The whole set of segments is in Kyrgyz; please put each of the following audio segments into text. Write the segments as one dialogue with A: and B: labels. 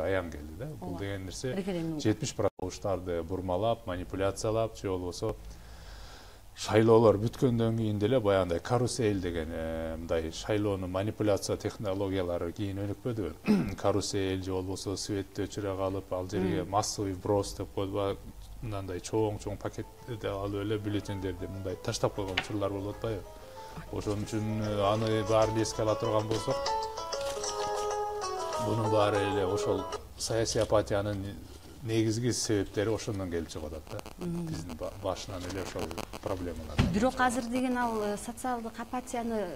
A: аян келди да. Бул деген нерсе 70% добуштарды бурмалап, манипуляциялап, же болбосо шайлоолор бүткөндөн кийин деле баягындай карусель деген мындай шайлоону манипуляция технологиялары кийин өнүкпөдүбү? Карусель же болбосо светти өчүрө калып, ал жерге массовый вброс деп коюлуп, мындай чоң пакетти алып эле бюллетендерди мындай таштап койгон учурлар болуп атпайбы? Ошон үчүн аны баарын эске ала турган болсок, бунун баары эле ошол саясий апатиянын негизги себептери ошондон келип чыгып атат да. Биздин башынан эле ошол проблемалар.
B: Бирок азыр деген ал социалдык апатияны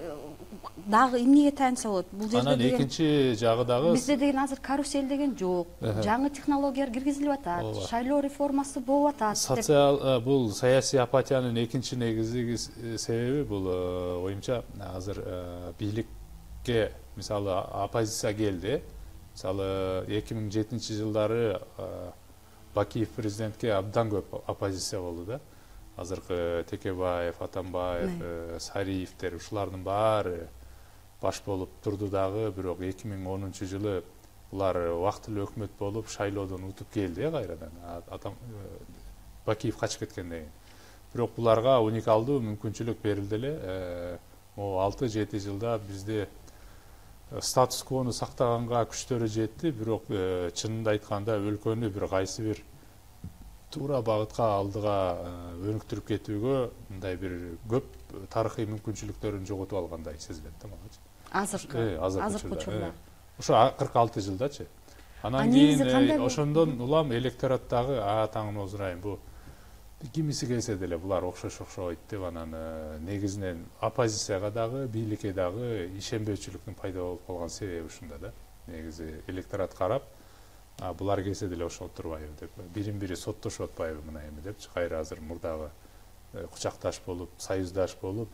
B: дагы эмнеге таянса болот? Бул жерде
A: анан экинчи жагы дагы
B: бизде деген азыр карусель деген жок. Жаңы технологиялар киргизилип атат. Шайлоо реформасы болуп атат.
A: Бул саясий апатиянын экинчи негизги себеби бул оюмча азыр бийликке мисалы оппозиция келди. Мисалы 2007-жылдары Бакиев президентке абдан көп оппозиция болду да. Азыркы Текебаев, Атамбаев, Сариевдер ушулардын баары баш болуп турду дагы, бирок 2010-жылы булар убактылуу өкмөт болуп шайлоодон утуп келди кайрадан. Бакиев качып кеткенден кийин. Бирок буларга уникалдуу мүмкүнчүлүк берилди эле. 6-7 жылда бизде статус-квону сактаганга күчтөрү жетти, бирок чынында айтканда өлкөнү бир кайсы бир туура багытка алдыга өнүктүрүп кетүүгө мындай бир көп тарыхый мүмкүнчүлүктөрүн жоготуп алгандай сезилет да мага.
B: Азыркы учурда.
A: Ошо 46 жылдачы. Анан кийин ошондон улам электораттагы таңын озурайын, бу кимиси келсе деле булар окшойт деп анан негизинен оппозицияга дагы, бийликке дагы ишенбөөчүлүктүн пайда болуп калган себеби ушунда да. Негизи электорат карап, булар келсе деле ошолуп турбайбы деп, бирин-бири соттошуп атпайбы мына эми депчи, кайра азыр мурдагы кучакташ болуп, союздаш болуп,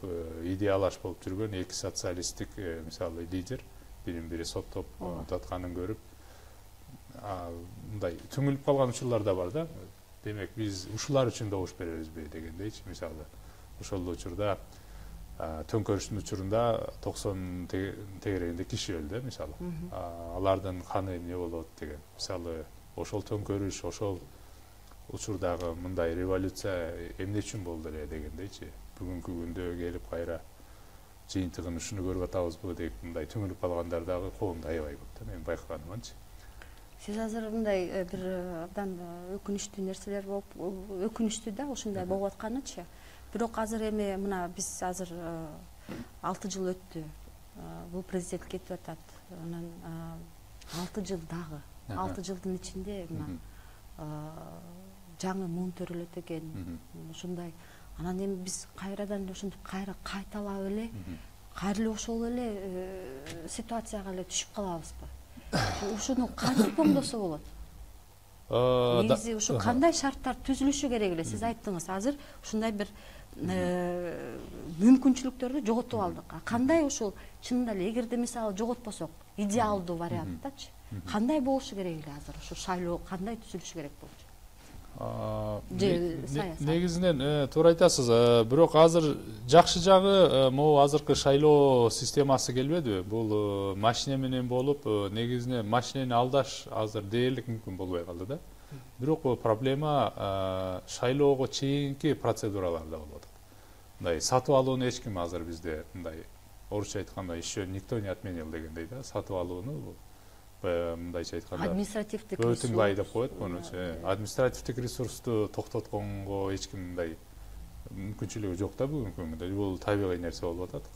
A: идеалаш болуп жүргөн эки социалисттик мисалы лидер бирин-бири соттоп атканын көрүп, мындай түңүлүп калган учурлар да бар да. Демек биз ушулар үчүн добуш беребизби дегендейчи, мисалы ошол учурда төңкөрүштүн учурунда 90 тегерегинде киши өлдү мисалы. Алардын каны эмне болот деген. Мисалы ошол төңкөрүш, ошол учурдагы мындай революция эмне үчүн болду эле дегендейчи. Бүгүнкү күндө келип кайра жыйынтыгын ушуну көрүп атабызбы деп мындай түңүлүп калгандар дагы коомдо аябай көп да, мен байкаганымчы.
B: Сиз азыр мындай бир абдан өкүнүчтүү нерселер болуп, өкүнүчтүү да ушундай болуп атканычы. Бирок азыр эми мына биз азыр 6 жыл өттү. Бул президент кетип атат. Анан 6 жыл дагы. 6 жылдын ичинде мына жаңы муун төрөлөт экен. Ушундай. Анан эми биз кайрадан ошентип кайталап эле, кайра ошол эле ситуацияга эле түшүп калабызбы? Ушуну кантип оңдосо болот? Негизи ушу кандай шарттар түзүлүшү керек эле? Сиз айттыңыз, азыр ушундай бир мүмкүнчүлүктөрдү жоготуп алдык. Кандай ушул чынында эле эгерде мисалы жоготпосок, идеалдуу варианттачы, кандай болушу керек эле азыр? Ушу шайлоо кандай түзүлүшү керек болчу?
A: Негизинен туура айтасыз, бирок азыр жакшы жагы могу азыркы шайлоо системасы келбедиби? Бул машина менен болуп, негизинен машинени алдаш азыр дээрлик мүмкүн болбой калды да. Бирок проблема шайлоого чейинки процедураларда болуп атат. Мындай сатып алууну эч ким азыр бизде мындай орусча айтканда еще никто не отменил дегендей да, сатып алууну мындайча айтканда
B: административдик
A: өтүңбай деп коет мунучу. Административдик ресурсту токтотконго эч ким мындай мүмкүнчүлүгү жок да бүгүнкү күндө. Бул табигый нерсе болуп атат.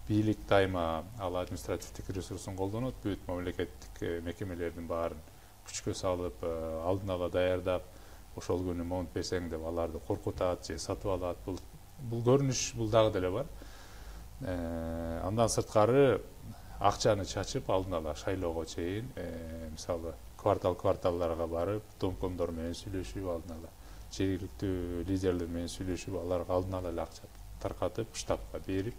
A: Бийлик дайыма ал административдик ресурсун колдонот, бүт мамлекеттик мекемелердин баарын күчкө салып, алдын ала даярдап, ошол күнү монт берсең деп аларды коркутат же сатып алат. Бул көрүнүш бул дагы деле бар. Андан сырткары акчаны чачып алдын ала шайлоого чейин мисалы кварталларга барып, домкомдор менен сүйлөшүп, алдын ала жергиликтүү лидерлер менен сүйлөшүп, аларга алдын ала эле акча таркатып, штабка берип,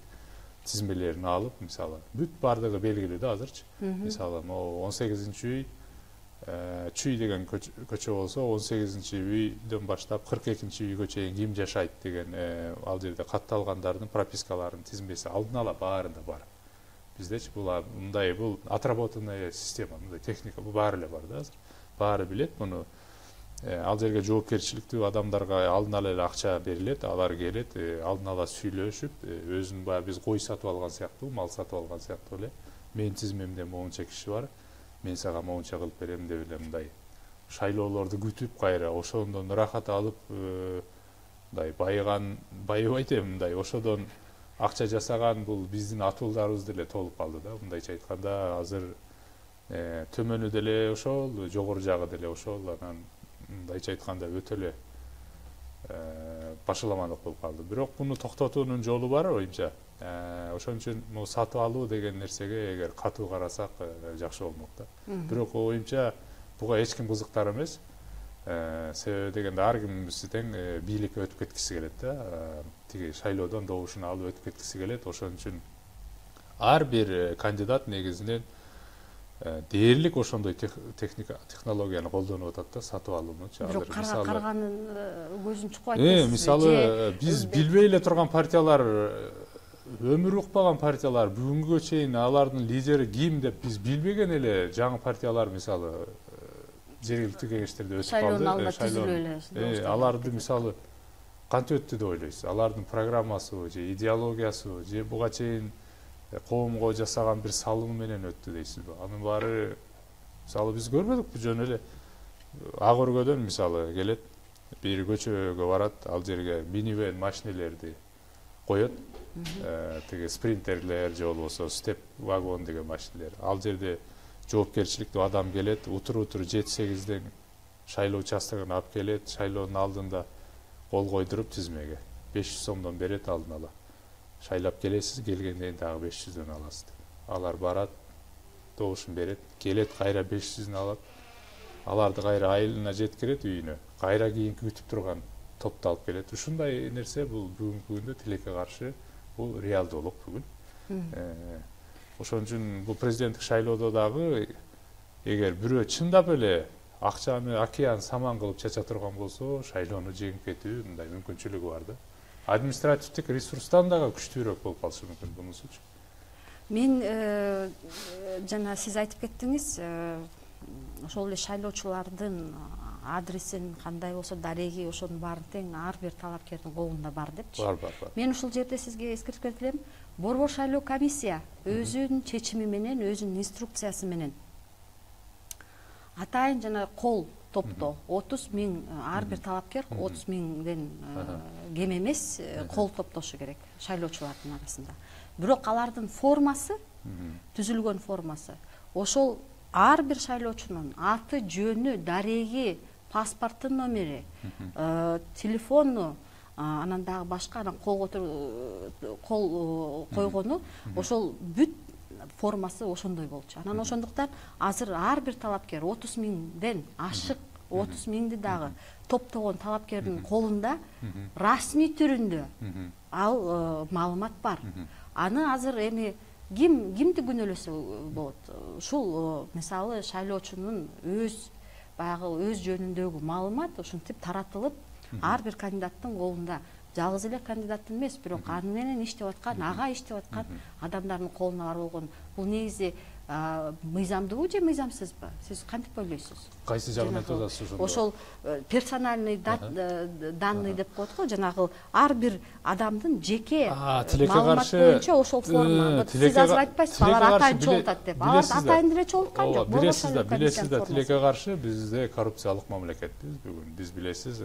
A: тизмелерин алып, мисалы бүт бардыгы белгилүү да азырчы. Мисалы 18-үй Чүй деген көчө болсо, 18-үйдөн баштап 42-үйгө чейин ким жашайт деген ал жерде катталгандардын пропискаларынын тизмеси алдын ала баарында бар. Биздечи бул отработанная система, мындай техника, бул баары эле бар да азыр. Баары билет муну. Ал жерге жоопкерчиликтүү адамдарга алдын ала эле акча берилет, алар келет, алдын ала сүйлөшүп, өзүнүн баягы биз кой сатып алган сыяктуу, мал сатып алган сыяктуу эле, менин тизмемде моунча киши бар, мен сага моунча кылып берем деп эле мындай шайлоолорду күтүп кайра ошондон ырахат алып, мындай байыбайт эми мындай ошодон акча жасаган бул биздин атуулдарыбыз деле толуп калды да. Мындайча айтканда азыр төмөнү деле ошол, жогору жагы деле ошол, анан мындайча айтканда өтө эле башаламандык болуп калды. Бирок муну токтотуунун жолу бар оюмча. Ошон үчүн могу сатып алуу деген нерсеге эгер катуу карасак жакшы болмок да. Бирок оюмча буга эч ким кызыктар эмес. Себеби дегенде ар кимибиз тең бийликке өтүп кеткиси келет да. Тиги шайлоодон добушун алып өтүп кеткиси келет. Ошон үчүн ар бир кандидат негизинен дээрлик ошондой технологияны колдонуп атат да, сатып алуунучу.
B: Бирок карганын көзүн чукпайт эмеспи?
A: Мисалы биз билбей эле турган партиялар, өмүрү укпаган партиялар, бүгүнгүгө чейин алардын лидери ким деп биз билбеген эле жаңы партиялар мисалы жергиликтүү кеңештерде өтүп калды.
B: Шайлоонун алдында түзүлүп эле.
A: Аларды мисалы кантип өттү деп ойлойсуз? Алардын программасы же идеологиясы же буга чейин коомго жасаган бир салымы менен өттү дейсизби? Анын баары мисалы биз көрбөдүкпү, жөн эле ак өргөдөн мисалы келет, бир көчөгө барат, ал жерге минивэн машинелерди коет, тиги спринтерлер же болбосо степ вагон деген машинелер. Ал жерде жоопкерчиликтүү адам келет, утур 7-8ден шайлоо участогуна алып келет, шайлоонун алдында кол койдуруп тизмеге 500 сомдон берет алдын ала. Шайлап келесиз, келгенден дагы 500дөн аласыз. Алар барат, добушун берет, келет кайра 500дөн алат. Аларды кайра айылына жеткирет үйүнө. Кайра кийинки күтүп турган топту алып келет. Ушундай нерсе бул бүгүнкү күндө тилекке каршы бул реалдуулук бүгүн. Ошон үчүн бул президенттик шайлоодо дагы эгер бирөө чындап эле акчаны океан саман кылып чача турган болсо, шайлоону жеңип кетүү мындай мүмкүнчүлүгү бар да. Административдик ресурстан дагы күчтүүрөөк болуп калышы мүмкүн бунусучу.
B: Мен жана сиз айтып кеттиңиз, ошол эле шайлоочулардын адресин кандай болсо дареги ошонун баарын тең ар бир талапкердин колунда бар депчи.
A: Бар.
B: Мен ушул жерде сизге эскертип кетелем. Борбор шайлоо комиссия өзүнүн чечими менен, өзүнүн инструкциясы менен атайын жана кол топтоо 30 000 ар бир талапкер 30 000ден кем эмес кол топтошу керек шайлоочулардын арасында. Бирок алардын формасы, түзүлгөн формасы ошол ар бир шайлоочунун аты, жөнү, дареги, паспорттун номери, телефону, анан дагы башка анан кол койгону ошол бүт формасы ошондой болчу. Анан ошондуктан азыр ар бир талапкер 30 000ден ашык 30 000ди дагы топтогон талапкердин колунда расмий түрүндө ал маалымат бар. Аны азыр эми кимди күнөөлөсө болот? Ушул мисалы шайлоочунун баягы өз жөнүндөгү маалымат ушинтип таратылып ар бир кандидаттын колунда, жалгыз эле кандидаттын эмес, бирок аны менен иштеп аткан, ага иштеп аткан адамдардын колуна бар болгон. Бул негизи мыйзамдуубу же мыйзамсызбы? Сиз кантип ойлойсуз?
A: Кайсы жагынан айтасыз ошондо?
B: Ошол персональный данный деп коет го, жанагы ар бир адамдын жеке маалымат боюнча ошол форма. Сиз азыр айтпайсызбы, алар атайын чогултат деп. Алар атайын деле чогулткан жок.
A: Билесиз да, тилекке каршы бизде коррупциялык мамлекетпиз бүгүн. Биз билесиз,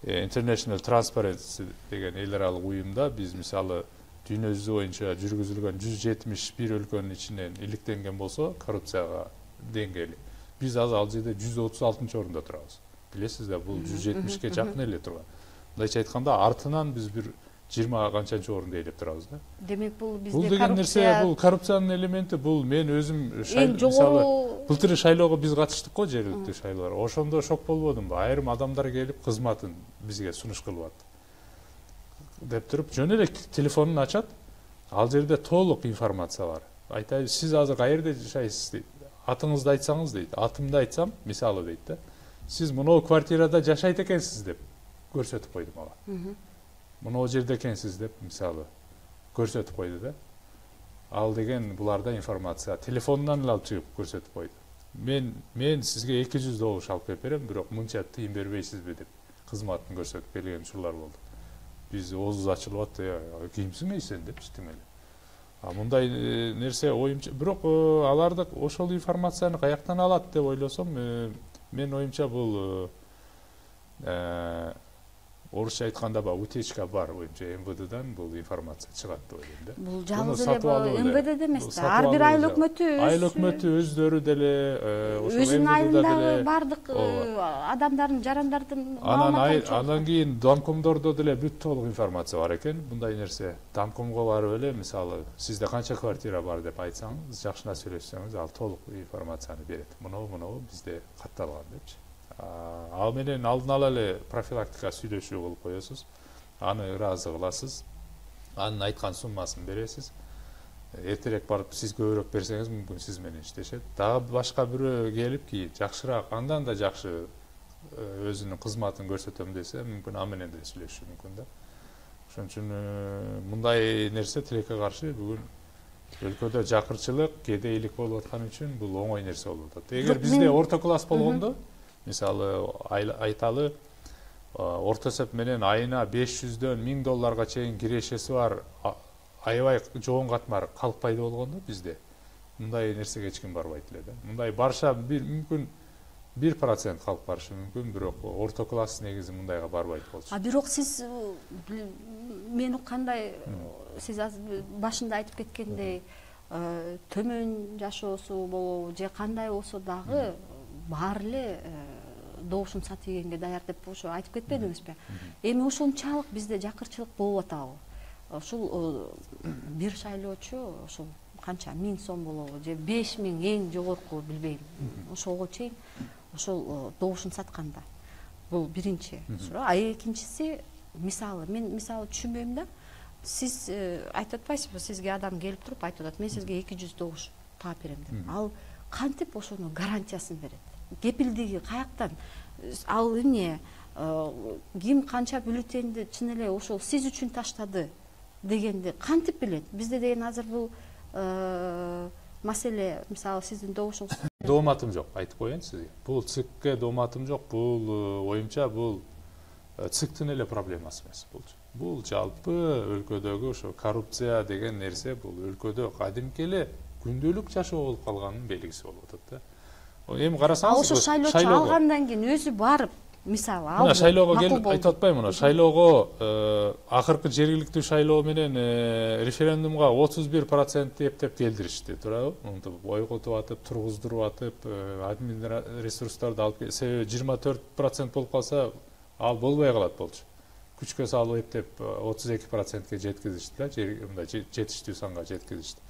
A: International Transparency деген эл аралык уюмда биз мисалы дүйнө жүзү боюнча жүргүзүлгөн 171 өлкөнүн ичинен иликтенген болсо коррупцияга деңгээли. Биз азыр ал жерде 136-орунда турабыз. Билесиз да, бул 170ке жакын эле турган. Мындайча айтканда артынан биз бир 20 канчанчы орунда ээлеп турабыз да.
B: Демек бул бизде
A: бул деген нерсе, бул коррупциянын элементи. Бул мен өзүм мисалы былтыр шайлоого биз катыштык го, жергиликтүү шайлоого. Ошондо шок болбодумбу? Айрым адамдар келип кызматын бизге сунуш кылып атты деп туруп, жөн эле телефонун ачат, ал жерде толук информация бар. Айтайын, сиз азыр каерде жашайсыз дейт. Атыңызды айтсаңыз дейт. Атымды айтсам, мисалы дейт да. Сиз мынау квартирада жашайт экенсиз деп көрсөтүп койду мага. Мынау жерде экенсиз деп мисалы көрсөтүп койду да. ал деген буларда информация телефонунан эле алып чыгып көрсөтүп койду. Мен сизге 200 добуш алып келип берем, бирок мынча тыйын бербейсизби деп кызматын көрсөтүп келген учурлар болду. Биз оозубуз ачылып атты, кимсиң сен депчи тим эле. Мындай нерсе оюмча, бирок аларды ошол информацияны каяктан алат деп ойлосом, мен оюмча бул орусча айтканда утечка бар, оюмча МВДдан бул информация чыгат деп ойлойм да.
B: Бул жалгыз эле МВД эмес да, ар бир айыл өкмөтү өздөрү деле өзүнүн айылындагы бардык адамдардын, жарандардын маалыматтарын.
A: Андан кийин домкомдордо деле бүт толук информация бар экен. Мындай нерсе домкомго барып эле, мисалы, сизде канча квартира бар деп айтсаңыз, жакшына сүйлөшсөңүз, ал толук информацияны берет. Мынау бизде катталган депчи. Ал менен алдын ала эле профилактика сүйлөшүү кылып коесуз. Аны ыраазы кыласыз. Анын айткан суммасын бересиз. Эртерээк барып сиз көбүрөөк берсеңиз, мүмкүн сиз менен иштешет. Дагы башка бирөө келип кийин жакшыраак, андан да жакшы өзүнүн кызматын көрсөтөм десе, мүмкүн ал менен деле сүйлөшүшү мүмкүн да. Ошон үчүн мындай нерсе тилекке каршы бүгүн өлкөдө жакырчылык, кедейлик болуп аткан үчүн бул оңой нерсе болуп атат. Эгер бизде орто класс болгондо, мисалы айталы орто эсеп менен айына 500дөн $1000 чейин кирешеси бар аябай жоон катмар калкпайды болгондо бизде мындай нерсеге эч ким барбайт эле да. Мындай барша мүмкүн 1% калып барышы мүмкүн, бирок орто класс негизи мындайга барбайт болчу.
B: Бирок сиз мен уккандай сиз башында айтып кеткендей төмөн жашоосу болобу же кандай болсо дагы баары эле добушун сатып ийгенге даяр деп ошо айтып кетпедиңизби? Эми ошончалык бизде жакырчылык болуп атабы? Ушул бир шайлоочу ошол канча 1000 сом болобу же 5000 эң жогорку билбейм. Ошого чейин ошол добушун сатканда. Бул биринчи суроо. Экинчиси, мен түшүнбөйм да. Сиз айтып атпайсызбы, сизге адам келип туруп айтып атат, мен сизге 200 добуш таап берем деп. Ал кантип ошону гарантиясын берет? Кепилдиги каяктан? Ал эмне? Ким канча бюллетенди чын эле ошол сиз үчүн таштады дегенди кантип билет? Бизде деген азыр бул маселе, мисалы, сиздин добушуңуз.
A: Дооматым жок, айтып коеюн сизге. Бул ЦИКке дооматым жок. Бул оюмча бул ЦИКтин эле проблемасы эмес болчу. Бул жалпы өлкөдөгү ошо коррупция деген нерсе бул өлкөдө кадимки эле күндөлүк жашоо болуп калганын белгиси болуп атат да. Эми карасаңыз,
B: ошо шайлоочу алгандан кийин өзү барып, мисалы,
A: мына шайлоого келип айтып атпаймынбы, мына шайлоого акыркы жергиликтүү шайлоо менен референдумга 31% эптеп келдиришти, туурабы? Мынтип ой котуп атып, тургуздуруп атып, админ ресурстарды алып, себеби 24% болуп калса, ал болбой калат болчу. Күчкө салып эптеп 32%ге жеткизишти да, мындай жетиштүү санга жеткизишти.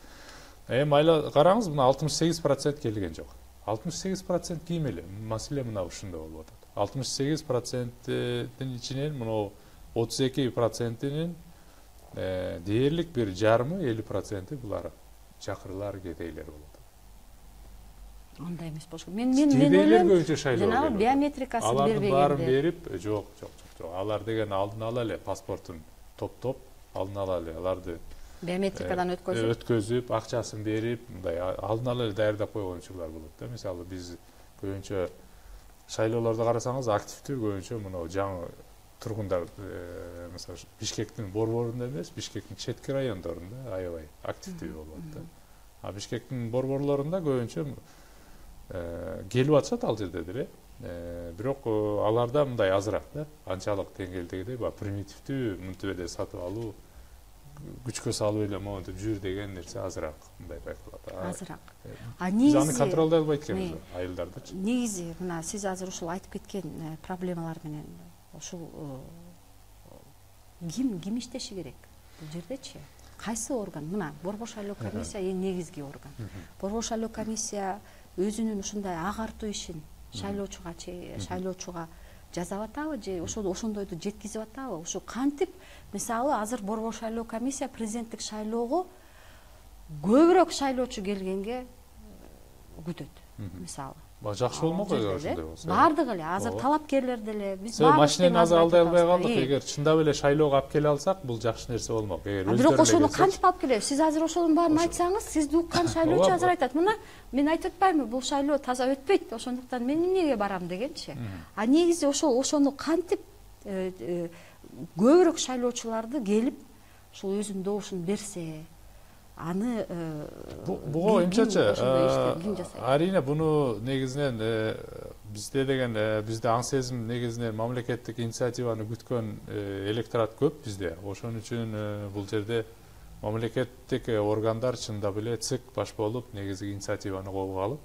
A: Эми айла караңыз, мына 68% келген жок. 68% ким эле? Маселе мына ушунда болуп атат. 68%-тин ичинен мына 32%-нин дээрлик бир жарымы 50% булар чакырлар, кедейлер болуп атат.
B: Андай эмес болушу. Мен ойлойм, жана биометрикасын бербегенде.
A: Алардын баарын берип, жок. Алар деген алдын ала эле паспортун топтоп, алдын ала эле аларды
B: биометрикадан
A: өткөзүп, акчасын берип, мындай алдын ала эле даярдап койгон учурлар болот да. Мисалы, биз көбүнчө шайлоолорду карасаңыз, активдүү көбүнчө мына жаңы тургундар, мисалы, Бишкектин борборунда эмес, Бишкектин четки райондорунда аябай активдүү болуп атат да. Бишкектин борборлорунда көбүнчө келип атышат ал жерде деле. Бирок аларда мындай азыраак да. Анчалык деңгээлдегидей примитивдүү мынтип эле сатып алуу, күчкө салып эле монтип жүр деген нерсе азыраак мындай байкалат.
B: Азыраак. Негизи
A: аны контролдой албайт экенбиз айылдардачы.
B: Негизи мына сиз азыр ушул айтып кеткен проблемалар менен ушул ким иштеши керек бул жердечи? Кайсы орган? Мына борбор шайлоо комиссия эң негизги орган. Борбор шайлоо комиссия өзүнүн ушундай агартуу ишин шайлоочуга жасап атабы же ошондойду жеткизип атабы? Ушу кантип, мисалы, азыр борбор шайлоо комиссия президенттик шайлоого көбүрөөк шайлоочу келгенге күтөт. Мисалы,
A: Жакшы болмок эгер ошондой болсо.
B: Бардыгы эле азыр талапкерлер деле биз
A: машинени азыр алдай албай калдык. Эгер чындап эле шайлоого алып келе алсак, бул жакшы нерсе болмок. Эгер
B: бирок ошону кантип алып келебиз? Сиз азыр ошонун баарын айтсаңыз, сизди уккан шайлоочу азыр айтат: "Мына мен айтып атпаймынбы, бул шайлоо таза өтпөйт, ошондуктан мен эмнеге барам" дегенчи. А негизи ошону кантип көбүрөөк шайлоочуларды келип ушул өзүнүн добушун берсе, аны
A: буга оюмчачы арийне буну негизинен бизде деген бизде аң сезим негизинен мамлекеттик инициативаны күткөн электорат көп бизде. Ошон үчүн бул жерде мамлекеттик органдар чындап эле ЦИК баш болуп негизги инициативаны колго алып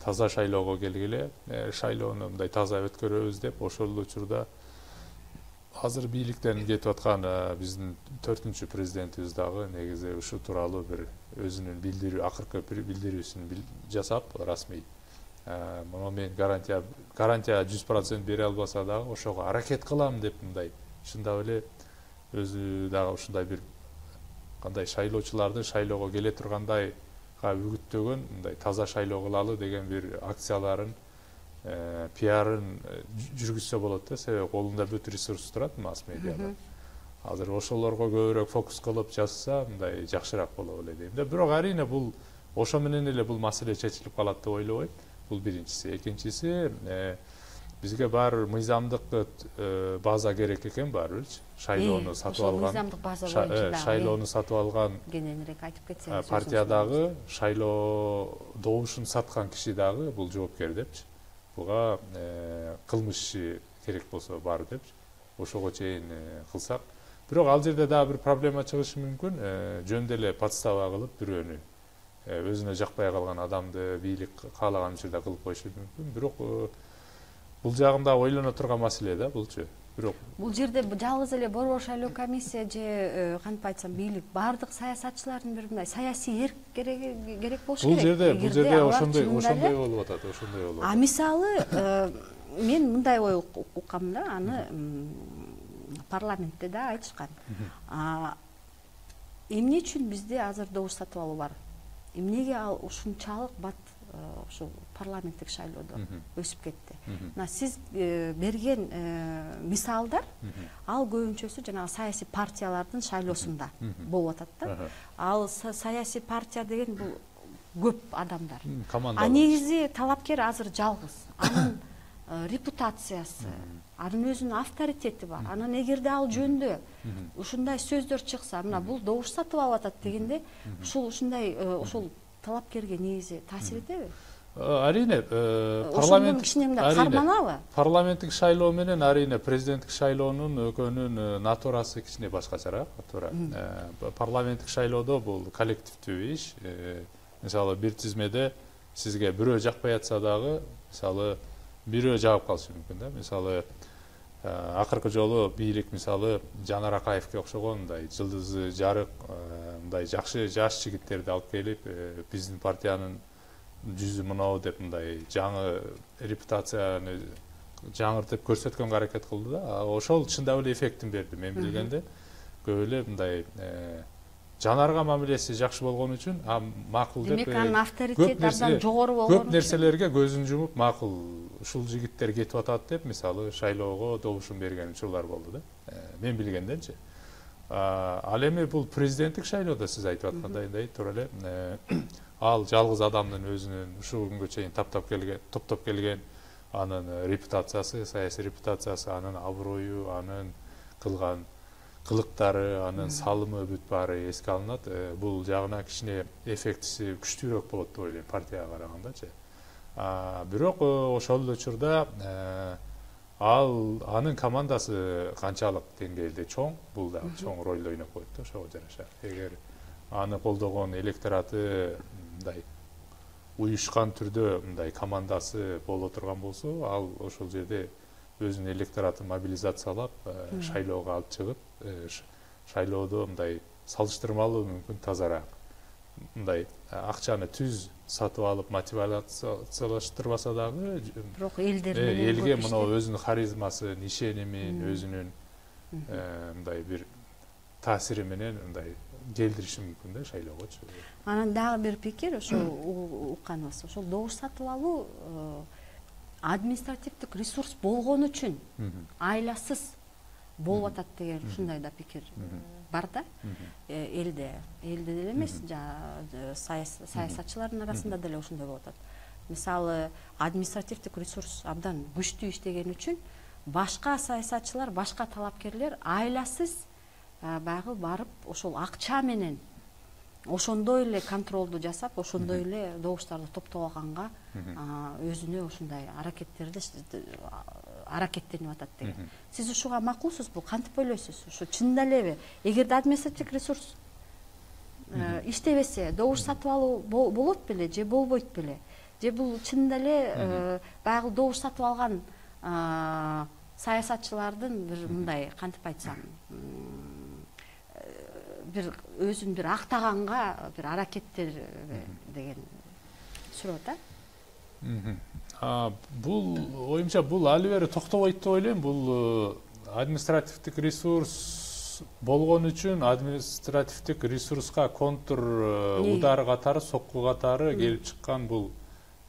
A: таза шайлоого келгиле, шайлоону мындай таза өткөрөбүз деп ошол учурда азыр бийликтен кетип аткан биздин 4-чү президентибиз дагы негизи ушу тууралуу бир өзүнүн билдирүү, акыркы билдирүүсүн жасап расмий. Мына мен гарантия 100% бере албаса дагы ошого аракет кылам деп мындай чындап эле өзү дагы ушундай бир кандай шайлоочуларды шайлоого келе тургандайга үгүттөгөн мындай таза шайлоо кылалы деген бир акцияларын пиарын жүргүзсө болот да, себеби колунда бүт ресурс турат масс медиада. Азыр ошолорго көбүрөөк фокус кылып жазса, мындай жакшыраак болот эле дейм да. Бирок арийне бул ошо менен эле бул маселе чечилип калат деп ойлобойм. Бул биринчиси. Экинчиси, бизге баары мыйзамдык база керек экен баарыбирчи. Шайлоону сатып алган.
B: Мыйзамдык база боюнча
A: шайлоону сатып алган
B: кененирээк айтып кетсеңиз.
A: Партия дагы, шайлоо добушун саткан киши дагы бул жоопкер депчи. Буга кылмыш иши керек болсо бар депчи. Ошого чейин кылсак. Бирок ал жерде дагы бир проблема чыгышы мүмкүн. Жөн деле подстава кылып бирөөнү өзүнө жакпай калган адамды бийлик каалаган учурда кылып коюшу мүмкүн. Бирок бул жагында ойлоно турган маселе да булчу. Бирок
B: бул жерде жалгыз эле борбор шайлоо комиссия же кантип айтсам бийлик бардык саясатчылардын бир мындай саясий эрк керек болушу керек.
A: Бул жерде ошондой болуп атат, ошондой болуп атат.
B: А мисалы мен мындай ой уккам да, аны парламентте да айтышкан. Эмне үчүн бизде азыр добуш сатып алуу бар? Эмнеге ал ушунчалык бат ушул парламенттик шайлоодо өсүп кетти? Мына сиз берген мисалдар ал көбүнчөсү жанагы саясий партиялардын шайлоосунда болуп атат да. Ал саясий партия деген бул көп адамдар. А негизи талапкер азыр жалгыз. Анын репутациясы, анын өзүнүн авторитети бар. Анан эгерде ал жөндө ушундай сөздөр чыкса, мына бул добуш сатып алып атат дегенде, ушундай ошол талапкерге негизи таасир этеби?
A: Арийне парламенттик шайлоо менен арийне президенттик шайлоонун экөөнүн натурасы кичине башкачараак. Парламенттик шайлоодо бул коллективдүү иш. Мисалы бир тизмеде сизге бирөө жакпай атса дагы, мисалы бирөө жагып калышы мүмкүн да. Мисалы акыркы жолу бийлик мисалы Жанар Акаевге окшогон мындай жылдызы жарык мындай жакшы жаш жигиттерди алып келип биздин партиянын жүзү мынау деп мындай жаңы репутацияны жаңыртып көрсөткөнгө аракет кылды да. Ошол чындап эле эффектин берди. Мен билгенде көп эле мындай Жанарга мамилеси жакшы болгон үчүн макул деп.
B: Демек анын авторитети абдан жогору болгон.
A: Көп нерселерге көзүн жумуп макул ушул жигиттер кетип атат деп мисалы шайлоого добушун берген учурлар болду да. Мен билгенденчи. Ал эми бул президенттик шайлоодо сиз айтып аткандай туура эле ал жалгыз адамдын өзүнүн ушул күнгө чейин топтоп келген анын репутациясы, саясий репутациясы, анын аброю, анын кылган кылыктары, анын салымы бүт баары эске алынат. Бул жагына кичине эффектиси күчтүүрөөк болот деп ойлойм партияга карагандачы. Бирок ошол эле учурда анын командасы канчалык деңгээлде чоң, бул да чоң роль ойноп коет да ошого жараша. Эгер аны колдогон электораты мындай уюшкан түрдө мындай командасы боло турган болсо, ал ошол жерде өзүнүн электоратын мобилизациялап шайлоого алып чыгып, шайлоодо мындай салыштырмалуу мүмкүн тазараак мындай акчаны түз сатып алып мотивациялаштырбаса дагы,
B: бирок элге
A: мына өзүнүн харизмасын, ишенимин, өзүнүн мындай бир таасири менен мындай келдириши мүмкүн да шайлоогочу.
B: Анан дагы бир пикир ошол укканыбыз, ошол добуш сатып алуу административдик ресурс болгон үчүн айласыз болуп атат деген ушундай да пикир бар да элде деле эмес, саясатчылардын арасында деле ошондой болуп атат. Мисалы, административдик ресурс абдан күчтүү иштеген үчүн башка саясатчылар, башка талапкерлер айласыз баягы барып ошол акча менен ошондой эле контролду жасап, ошондой эле добуштарды топтоп алганга өзүнө ушундай аракеттенип атат деген. Сиз ушуга макулсузбу? Кантип ойлойсуз? Ушу чынында элеби? Эгерде административдик ресурс иштебесе, добуш сатып алуу болот беле же болбойт беле? Же бул чынында эле баягы добуш сатып алган саясатчылардын бир мындай, кантип айтсам, бир өзүн бир актаганга бир аракеттер деген суроо да.
A: Бул оюмча бул али бери токтобойт деп ойлойм. Бул административдик ресурс болгон үчүн административдик ресурска контур удары катары, сокку катары келип чыккан бул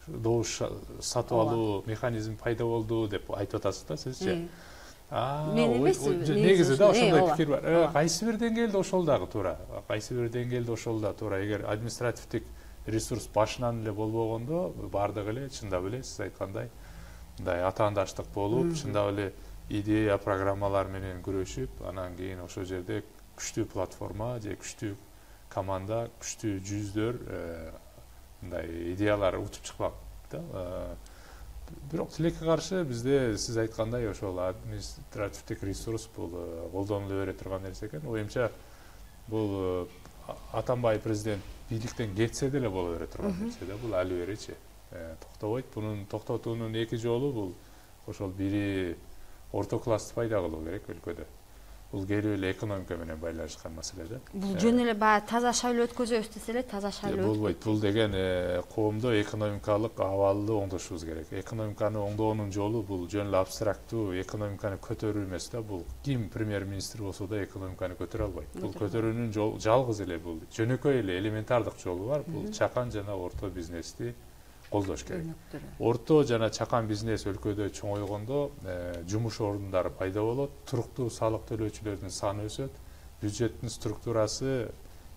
A: добуш сатып алуу механизми пайда болду деп айтып атасыз да сизчи? Негизи да ошондой пикир бар. Кайсы бир деңгээлде ошол дагы туура. Кайсы бир деңгээлде ошол да туура. Эгер административдик ресурс башынан эле болбогондо баардыгы эле чындап эле сиз айткандай мындай атаандаштык болуп, чындап эле идея, программалар менен күрөшүп, анан кийин ошол жерде күчтүү платформа же күчтүү команда, күчтүү жүздөр мындай идеялар утуп чыкпак да. Бирок тилекке каршы бизде сиз айткандай ошол административдик ресурс бул колдонула бере турган нерсе экен. Оюмча бул Атамбаев президент бийликтен кетсе деле боло бере турган нерсе да. Бул али беричи токтобойт. Бунун токтотуунун эки жолу бул ошол бири орто классты пайда кылуу керек өлкөдө. Бул келип эле экономика менен байланышкан маселе да.
B: Бул жөн эле баягы таза шайлоо өткөзөбүз десе эле таза шайлоо
A: болбойт. Бул деген коомдо экономикалык абалды оңдошубуз керек. Экономиканы оңдоонун жолу бул жөн эле абстрактуу экономиканы көтөрүү эмес да. Бул ким премьер-министр болсо да экономиканы көтөрө албайт. Бул көтөрүүнүн жалгыз эле бул жөнөкөй эле элементардык жолу бар. Бул чакан жана орто бизнести колдош керек. Орто жана чакан бизнес өлкөдө чоңойгондо жумуш орундары пайда болот, туруктуу салык төлөөчүлөрдүн саны өсөт, бюджеттин структурасы,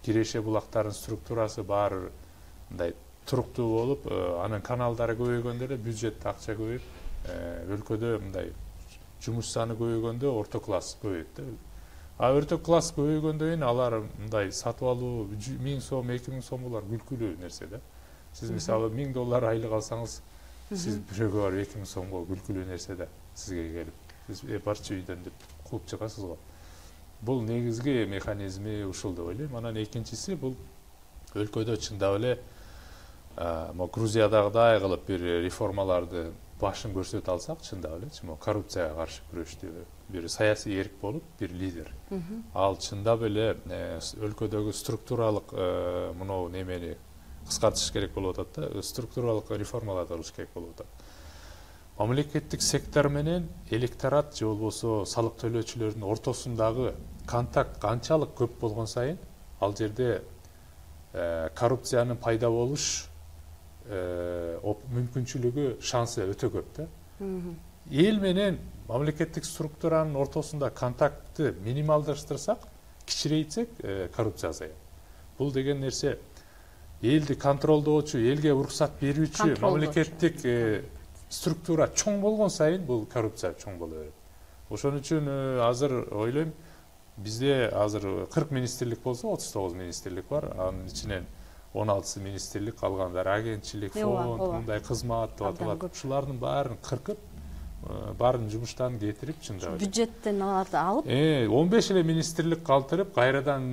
A: киреше булактардын структурасы баары мындай туруктуу болуп, анын каналдары көбөйгөндө эле бюджетте акча көбөйүп, өлкөдө мындай жумуш саны көбөйгөндө орто класс көбөйөт да. Орто класс көбөйгөндөн кийин алар мындай сатып алуу 1000 сом, 2000 сом булар күлкүлүү нерсе да. Сиз мисалы $1000 айлык алсаңыз, сиз бирөөгө барып 2000 сомго күлкүлүү нерсе да сизге келип, сиз барчы үйдөн деп кууп чыгасыз го. Бул негизги механизми ушул деп ойлойм. Анан экинчиси бул өлкөдө чындап эле Грузиядагыдай кылып бир реформаларды башын көрсөтө алсак, чындап эле коррупцияга каршы күрөштү бир саясий эрк болуп, бир лидер. Ал чындап эле өлкөдөгү структуралык мынау немени кыскартыш керек болуп атат да, структуралык реформаларды кылыш керек болуп атат. Мамлекеттик сектор менен электорат же болбосо салык төлөөчүлөрдүн ортосундагы контакт канчалык көп болгон сайын, ал жерде коррупциянын пайда болуш мүмкүнчүлүгү, шансы өтө көп да. Эл менен мамлекеттик структуранын ортосунда контактты минималдаштырсак, кичирейтсек, коррупция азаят. Бул деген нерсе элди контролдоочу, элге уруксат берүүчү мамлекеттик структура чоң болгон сайын бул коррупция чоң боло берет. Ошон үчүн азыр ойлойм, бизде азыр 40 министрлик болсо 39 министрлик бар. Анын ичинен 16 министрлик, калгандары агентчилик, фонд, мындай кызмат деп аталат. Ушулардын баарын кыркып, баарын жумуштан кетирип, чындап
B: бюджеттен алып
A: 15 эле министрлик калтырып, кайрадан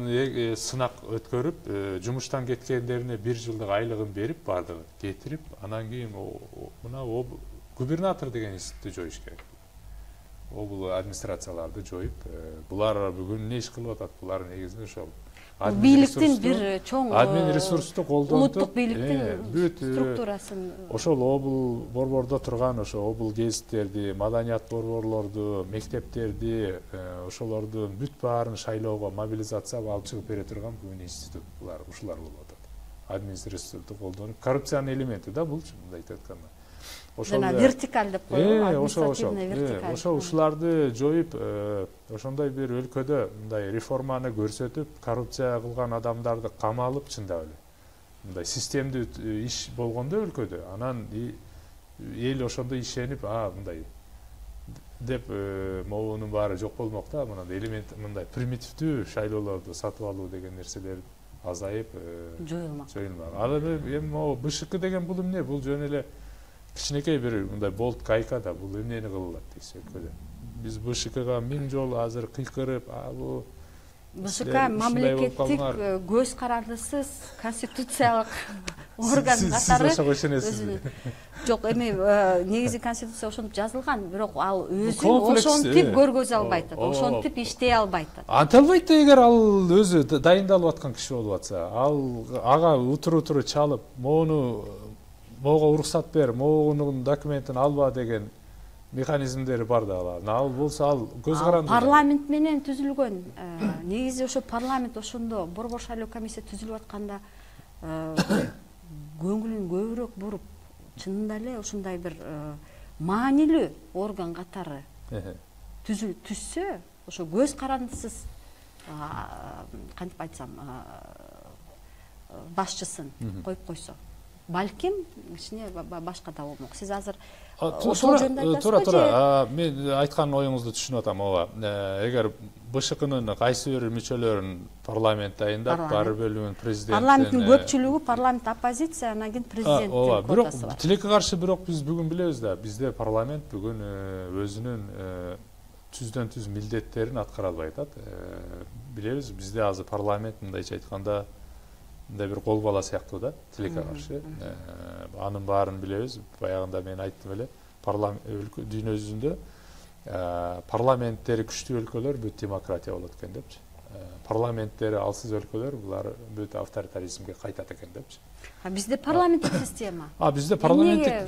A: сынак өткөрүп, жумуштан кеткендерине 1 жылдык айлыгын берип, баардыгын кетирип, анан кийин мына губернатор деген институтту жоюш керек. Бул администрацияларды жоюп, булар бүгүн эмне иш кылып атат? Булар негизи ошол
B: бийликтин бир чоң
A: админ ресурсту колдонуп
B: улуттук бийликтин
A: бүт
B: структурасын
A: ошол обул борбордо турган ошо обул гезиттерди, маданият борборлорду, мектептерди, ошолордун бүт баарын шайлоого мобилизацияга алып чыгып бере турган бүгүн институт ушулар болуп атат. Админ ресурсту колдонуп, коррупциянын элементи да бул, мындай айтканда.
B: жана вертикаль деп коебу, административный вертикаль.
A: Ошо ушуларды жоюп, ошондой бир өлкөдө мындай реформаны көрсөтүп, коррупция кылган адамдарды камалып чындап эле. Мындай системдүү иш болгондо өлкөдө, анан эл ошондо ишенип, мындай деп могунун баары жок болмок да, мындай элемент, мындай примитивдүү шайлоолорду сатып алуу деген нерселер азайып, жоюлмак. Ал эми могу БШК деген бул эмне? Бул жөн эле кичинекей бир мындай болт гайка да, бул эмнени кылып атат дейсиз өлкөдө. Биз БШКга 1000 жолу азыр кыйкырып, бул
B: БШК мамлекеттик көз карандысыз конституциялык орган катары.
A: Сиз ошого ишенесизби?
B: Жок, эми негизи конституция ошентип жазылган, бирок ал өзүн ошентип көргөзө албайт, ошентип иштей албайт.
A: Анте албайт да, эгер ал өзү дайындалып аткан киши болуп атса, ага утуру чалып, мого уруксат бер, могунун документин алба деген механизмдери бар да алардын. Ал болсо ал көз каранды.
B: Парламент менен түзүлгөн. Негизи ошо парламент ошондо борбор шайлоо комиссия түзүлүп атканда көңүлүн көбүрөөк буруп, чынында эле ушундай бир маанилүү орган катары түзсө, ошо көз карандысыз кантип айтсам, башчысын коюп койсо, балким кичине башка да болмок. Сиз азыр ошол жөнүндө айтасызбы?
A: Туура. Мен айткан оюңузду түшүнүп атам. Эгер БШКнын кайсы бир мүчөлөрүн парламент дайындап, баары бөлүгүн президент,
B: парламенттин көпчүлүгү парламент оппозиция, анан кийин президенттин квотасы бар.
A: Тилекке каршы бирок биз бүгүн билебиз да, бизде парламент бүгүн өзүнүн түздөн түз милдеттерин аткара албай атат. Билебиз, бизде азыр парламент мындайча айтканда мындай бир кол бала сыяктуу да, тилекке каршы. Анын баарын билебиз. Баягында мен айттым эле, дүйнө жүзүндө парламенттери күчтүү өлкөлөр бүт демократия болот экен депчи. Парламенттери алсыз өлкөлөр булар бүт авторитаризмге кайтат экен депчи.
B: Бизде парламенттик система.
A: Бизде парламенттик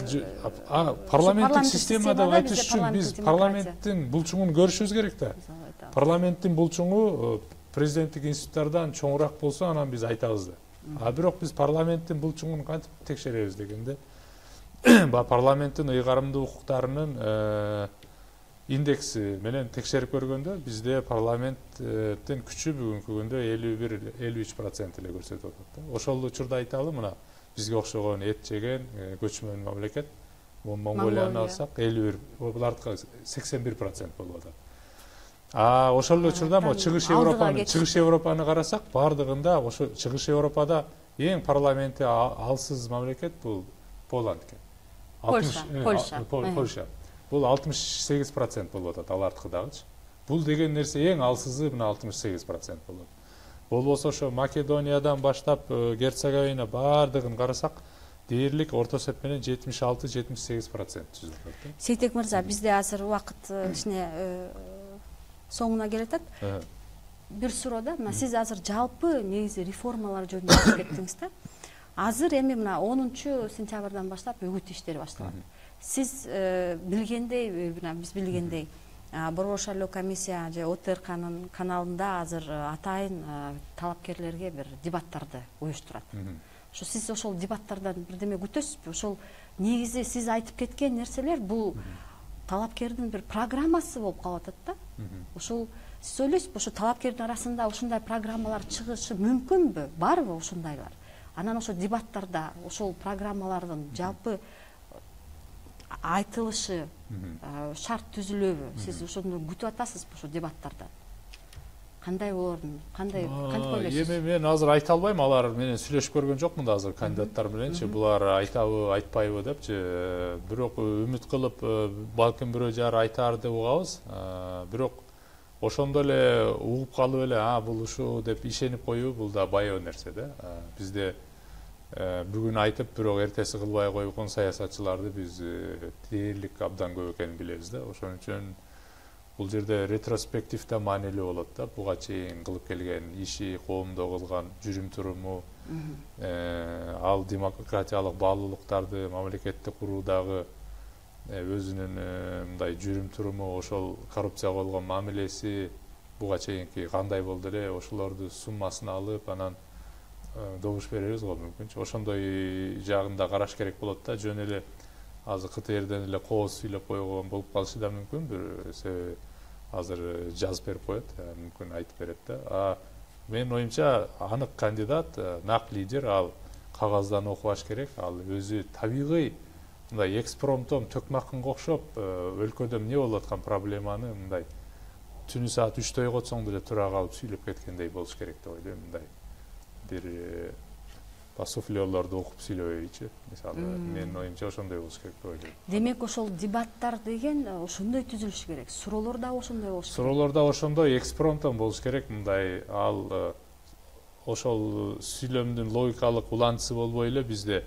A: система деп айтыш үчүн биз парламенттин булчуңун көрүшүбүз керек да. Парламенттин булчуңу президенттик институттардан чоңураак болсо, анан биз айтабыз да. Бирок биз парламенттин булчуңун кантип текшеребиз дегенде, парламенттин ыйгарымдуу укуктарынын индекси менен текшерип көргөндө, бизде парламенттин күчү бүгүнкү күндө 51-53% эле көрсөтүп атат. Ошол учурда айталы, мына бизге окшогон эт жеген көчмөн мамлекет, Монголияны алсак 51, булардыкы 81% болуп атат. Ошол учурда чыгыш Европаны карасак, бардыгында ошо чыгыш Европада эң парламенти алсыз мамлекет бул Поланд экен. Польша. Бул 68% болуп атат, алардыкыдагычы. Бул деген нерсе эң алсызы мына 68% болот. Болбосо ошо Македониядан баштап Герцеговина бардыгын карасак, дээрлик орто эсеп менен 76-78% түзүп атат.
B: Сейтек мырза, бизде азыр убакыт кичине соңуна келатат. Бир суроо да, сиз азыр жалпы негизи реформалар жөнүндө айтып кеттиңиз да. Азыр эми мына 10-сентябрдан баштап үгүт иштери башталат. Сиз билгендей, биз билгендей, борбор шайлоо комиссия же ОТРКнын каналында азыр атайын талапкерлерге бир дебаттарды уюштурат. Ошо сиз ошол дебаттардан бирдеме күтөсүзбү? Ошол негизи сиз айтып кеткен нерселер бул талапкердин бир программасы болуп калып атат да. Ошол сиз ойлойсузбу, ошо талапкердин арасында ушундай программалар чыгышы мүмкүнбү? Барбы ушундайлар? Анан ошо дебаттарда ошол программалардын жалпы айтылышы шарт түзүлөбү? Сиз ошону күтүп атасызбы ошо дебаттардан? Кандай болорун, кантип ойлойсуз?
A: Эми мен азыр айта албайм, алар менен сүйлөшүп көргөн жокмун да азыр кандидаттар мененчи, булар айтабы, айтпайбы депчи. Бирок үмүт кылып, балким бирөө жары айтаар деп угабыз. Бирок ошондо эле угуп калып эле, бул ушу деп ишенип коюу, бул да баяу нерсе да. Бизде бүгүн айтып, бирок эртеси кылбай койгон саясатчыларды биз дээрлик абдан көп экенин билебиз да. Ошон үчүн бул жерде ретроспектив да маанилүү болот да, буга чейин кылып келген иши, коомдо кылган жүрүм туруму, ал демократиялык баалуулуктарды мамлекетти куруудагы өзүнүн мындай жүрүм туруму, ошол коррупцияга болгон мамилеси буга чейинки кандай болду эле, ошолорду суммасын алып, анан добуш беребиз го мүмкүнчү. Ошондой жагын да караш керек болот да, жөн эле азыр КТРден эле кооз сүйлөп койгон болуп калышы да мүмкүн, бир себеби азыр жазып берип коет, мүмкүн айтып берет да. Менин оюмча анык кандидат, нак лидер, ал кагаздан окубаш керек, ал өзү табигый мындай экспромтом төкмакынга окшоп өлкөдө эмне болуп аткан проблеманы мындай түнү саат 3 ойготсоң деле тура калып сүйлөп кеткендей болуш керек деп ойлойм. Мындай бир суфлерлорду окуп сүйлөбөйчү, мисалы. Менин оюмча ошондой болуш керек деп ойлойм.
B: Демек ошол дебаттар деген ошондой түзүлүш керек. Суроолор да ошондой болуш керек.
A: Суроолор да ошондой экспромтом болуш керек. Мындай ал ошол сүйлөмдүн логикалык улантысы болбой эле бизде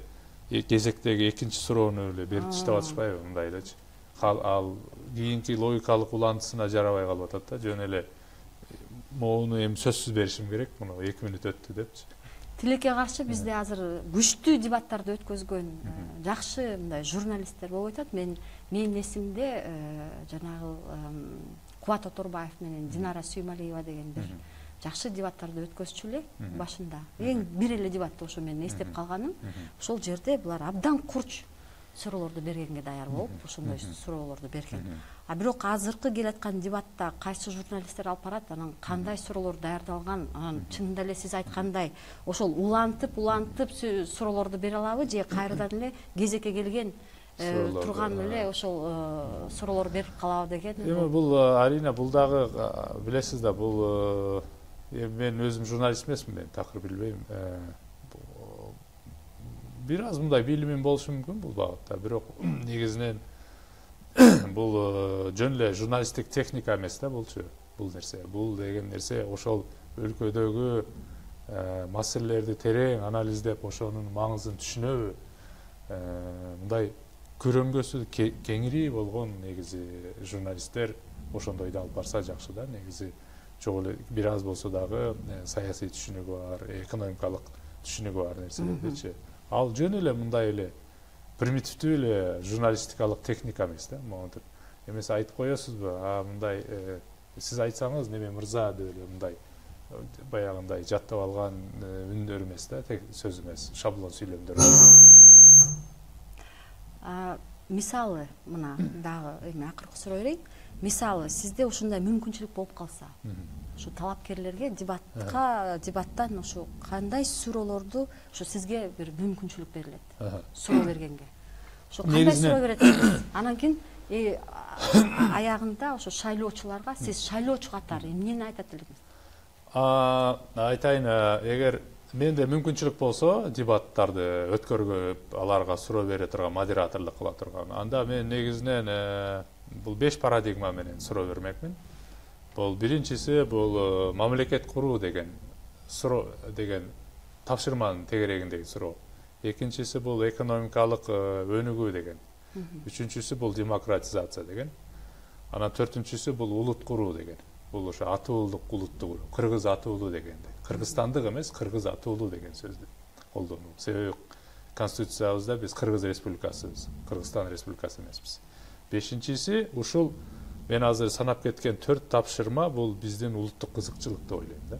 A: кезектеги экинчи суроону эле берип таштап атышпайбы, мындай элечи. Ал кийинки логикалык улантысына жарабай калып атат да, жөн эле моуну эми сөзсүз беришим керек, муну 2 мүнөт өттү депчи.
B: Тилекке каршы бизде азыр күчтүү дебаттарды өткөзгөн жакшы мындай журналисттер болуп атат. Менин эсимде жанагы Кубат Оторбаев менен Динара Сүймалиева деген бир жакшы дебаттарды өткөзчү эле башында. Эң бир эле дебатты ошо менин эстеп калганым. Ошол жерде булар абдан курч суроолорду бергенге даяр болуп, ошондой суроолорду берген. Бирок азыркы келаткан дебатта кайсы журналисттер алып барат, анан кандай суроолор даярдалган, анан чынында эле сиз айткандай ошол улантып суроолорду бере алабы, же кайрадан эле кезекке келген турган эле ошол суроолор берип калабы деген.
A: Эми бул арийне бул дагы билесиз да, бул мен өзүм журналист эмесмин, мен такыр билбейм. Бир аз мындай билимим болушу мүмкүн бул багытта, бирок негизинен бул жөн эле журналисттик техника эмес да булчу, бул нерсе. Бул деген нерсе ошол өлкөдөгү маселелерди терең анализдеп, ошонун маңызын түшүнөбү, мындай көрөңгөсү кеңири болгон негизи журналисттер ошондойду алып барса жакшы да. Негизи чогуу эле бир аз болсо дагы саясий түшүнүгү бар, экономикалык түшүнүгү бар нерселердичи. Ал жөн эле мындай эле примитивдүү эле журналистикалык техника эмес да. Монтип эмес айтып коесузбу, мындай сиз айтсаңыз неме мырза деп эле мындай баягындай жаттап алган үндөр эмес да, сөз эмес, шаблон сүйлөмдөр.
B: Мисалы, мына дагы эми акыркы суроо берейин. Мисалы, сизде ушундай мүмкүнчүлүк болуп калса, ушу талапкерлерге дебаттан ушу кандай суроолорду, ушу сизге бир мүмкүнчүлүк берилет, суроо бергенге. Ушу кандай суроо бересиз? Анан кийин аягында ушу шайлоочуларга сиз шайлоочу катары эмнени айтат элеңиз?
A: Айтайын, эгер менде мүмкүнчүлүк болсо дебаттарды өткөргөп, аларга суроо бере турган, модераторлук кыла турган, анда мен негизинен бул 5 парадигма менен суроо бермекмин. Бул биринчиси бул мамлекет куруу деген суроо деген тапшырманын тегерегиндеги суроо. Экинчиси бул экономикалык өнүгүү деген. Үчүнчүсү бул демократизация деген. Анан төртүнчүсү бул улут куруу деген. Бул ошо атуулук улутту куруу, кыргыз атуулу дегенде. Кыргызстандык эмес, кыргыз атуулу деген сөздү колдонуу. Себеби конституциябызда биз Кыргыз республикасыбыз, Кыргызстан республикасы эмеспиз. Бешинчиси ушул мен азыр санап кеткен 4 тапшырма бул биздин улуттук кызыкчылык деп ойлойм да.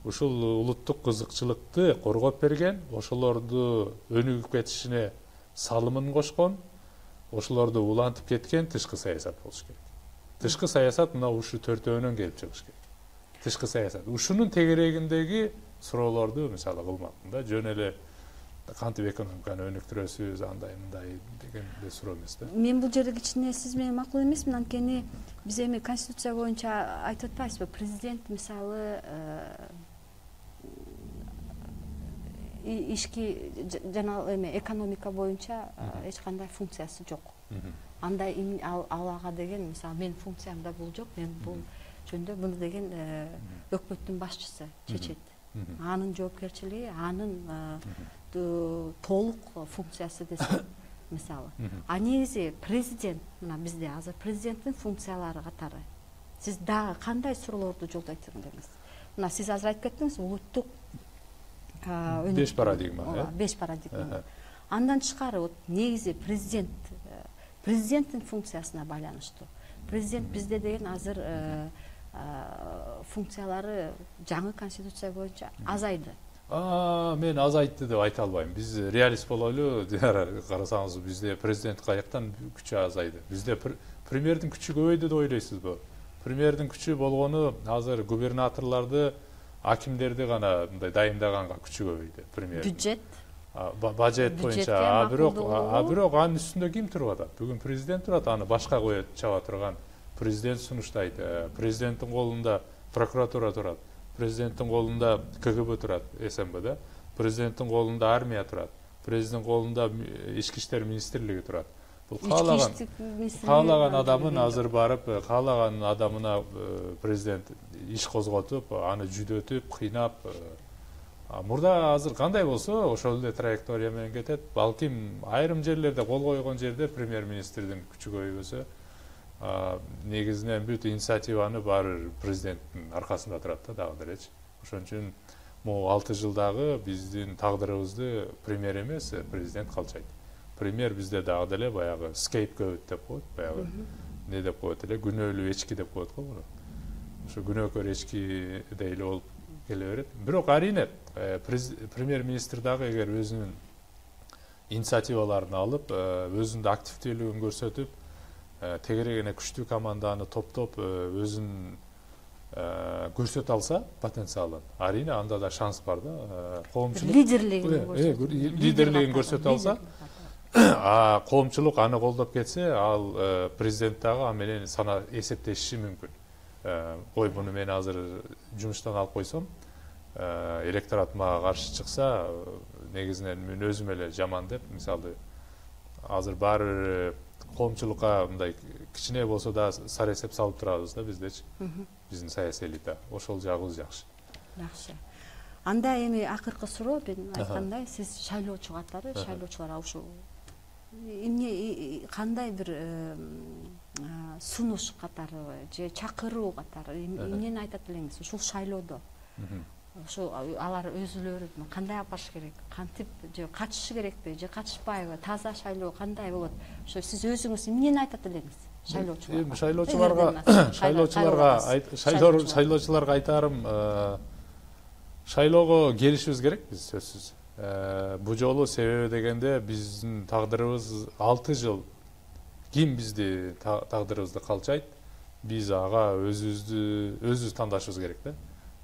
A: Ушул улуттук кызыкчылыкты коргоп берген, ошолорду өнүгүп кетишине салымын кошкон, ошолорду улантып кеткен тышкы саясат болуш керек. Тышкы саясат мына ушу төртөөнөн келип чыгыш керек. Тышкы саясат. Ушунун тегерегиндеги суроолорду мисалы кылмакмын да, жөн эле кантип экономиканы өнүктүрөсүз, андай мындай деген суроо эмес да.
B: Мен бул жерде кичине сиз менен макул эмесмин, анткени биз эми конституция боюнча айтып атпайбызбы, президент мисалы ишки жана эме экономика боюнча эч кандай функциясы жок. Андай алага деген мисалы менин функциямда бул жок, мен бул жөндө муну деген өкмөттүн башчысы чечет. Анын жоопкерчилиги, анын толук функциясы десем мисалы. Негизи президент, мына бизде азыр президенттин функциялары катары сиз дагы кандай суроолорду жолдойт элеңиз? Мына сиз азыр айтып кеттиңиз, улуттук
A: 5 парадигма,
B: 5 парадигма. Андан тышкары вот негизи президенттин функциясына байланыштуу. Президент бизде деген азыр функциялары жаңы конституция боюнча азайды.
A: Мен азайтты деп айта албайм. Биз реалист бололу, карасаңыз бизде президент каяктан күчү азайды. Бизде премьердин күчү көбөйдү деп ойлойсузбу? Премьердин күчү болгону азыр губернаторлорду, акимдерди гана мындай дайындаганга күчү көбөйдү. Премьер.
B: Бюджет.
A: Бажет боюнча. Бирок анын үстүндө ким туруп атат? Бүгүн президент турат, аны башка коюп чаба турган президент сунуштайт. Президенттин колунда прокуратура турат. Президенттин колунда КГБ турат, СМБ. Президенттин колунда армия турат. Президенттин колунда ички иштер министрлиги турат. Бул каалаган адамын азыр барып, каалаган адамына президент иш козготуп, аны жүдөтүп, кыйнап. Мурда азыр кандай болсо, ошол эле траектория менен кетет. Балким айрым жерлерде кол койгон жерде премьер-министрдин күчү көбөйбөсө, негизинен бүт инициативаны баары президенттин аркасында турат да дагы делечи. Ошон үчүн могу 6 жылдагы биздин тагдырыбызды премьер эмес, президент калчайт. Премьер бизде дагы деле баягы scapegoat деп коет, баягы не деп коет эле, күнөөлүү эчки деп коет го. Ошо күнөөкөр эчки эле болуп келе берет. Бирок арине премьер-министр дагы эгер өзүнүн инициативаларын алып, өзүнүн активдүүлүгүн көрсөтүп, тегерегине күчтүү команданы топтоп, өзүн көрсөтө алса потенциалын, арине анда да шанс бар да. Коомчулук лидерлигин көрсөтө алса, коомчулук аны колдоп кетсе, ал президент дагы аны менен сана эсептешиши мүмкүн. Ой, буну мен азыр жумуштан алып койсом, электорат мага каршы чыкса, негизинен мен өзүм эле жаман деп, мисалы, азыр баары коомчулукка мындай кичине болсо да сара эсеп салып турабыз да биздечи. Биздин саясий элита. Ошол жагыбыз жакшы.
B: Жакшы. Анда эми акыркы суроо, мен айткандай, сиз шайлоочу катары, шайлоочуларга ушул эмне кандай бир сунуш катары же чакыруу катары эмнени айтат элеңиз ушул шайлоодо? Ошо алар өзүлөрү кандай алып барыш керек, кантип же катышышы керекпи же катышпайбы, таза шайлоо кандай болот? Ошо сиз өзүңүз эмнени айтат элеңиз шайлоочуларга?
A: Шайлоочуларга айтарым, шайлоого келишибиз керек биз сөзсүз. Бул жолу себеби дегенде биздин тагдырыбыз 6 жыл ким бизди тагдырыбызды калчайт, биз ага өзүбүз тандашыбыз керек да.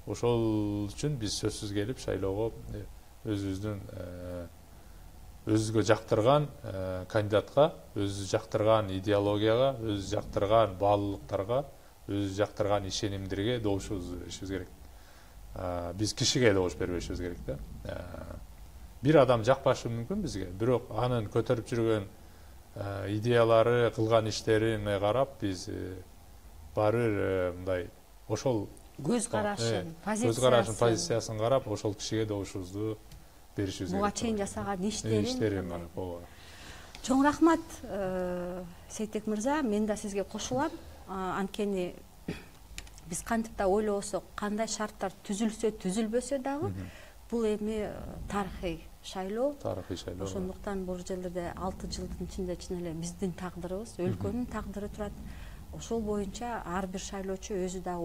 A: Ошол үчүн биз сөзсүз келип шайлоого өзүбүзгө жактырган кандидатка, өзүбүз жактырган идеологияга, өзүбүз жактырган баалуулуктарга, өзүбүз жактырган ишенимдерге добушубуз беришибиз керек. Биз кишиге добуш бербешибиз керек да. Бир адам жакпашы мүмкүн бизге, бирок анын көтөрүп жүргөн идеялары, кылган иштерине карап биз баары мындай ошол көз карашын, позициясын карап, ошол кишиге добушубузду беришибиз керек.
B: Буга чейин жасаган иштерин
A: карап.
B: Чоң рахмат, Сейтек мырза, мен да сизге кошулам. Анткени биз кантип да ойлобосок, кандай шарттар түзүлсө, түзүлбөсө дагы, бул эми тарыхый шайлоо. Ошондуктан бул жерлерде 6 жылдын ичинде чын эле биздин тагдырыбыз, өлкөнүн тагдыры турат. Ошол боюнча ар бир шайлоочу өзү да